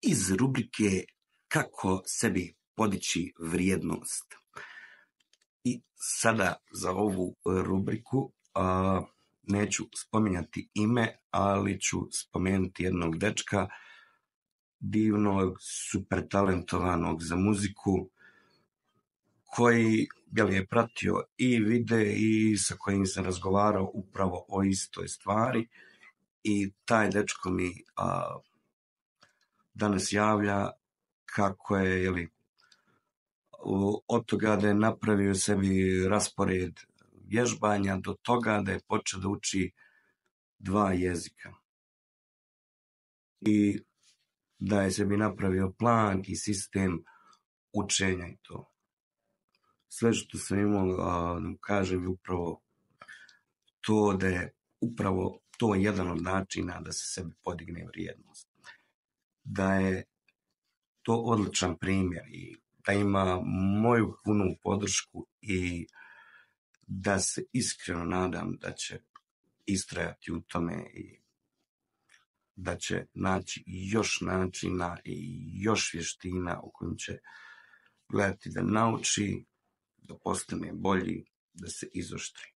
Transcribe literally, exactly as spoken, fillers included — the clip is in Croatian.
iz rubrike Kako sebi podići vrijednost. I sada za ovu rubriku a, neću spominjati ime, ali ću spomenuti jednog dečka, divnog, super talentovanog za muziku, koji jel, je pratio i vide i sa kojim sam razgovarao upravo o istoj stvari. I taj dečko mi a, danas javlja kako je, jeli, od toga da je napravio sebi raspored vježbanja do toga da je počeo da uči dva jezika. I da je sebi napravio plan i sistem učenja i to. Sve što sam imao da mu kažem je upravo to da je upravo to jedan od načina da se sebi podigne vrijednost. Da je to odličan primjer i da ima moju punu podršku i da se iskreno nadam da će istrajati u tome i da će naći još načina i još vještina u kojim će gledati da nauči, da postane bolji, da se izoštri.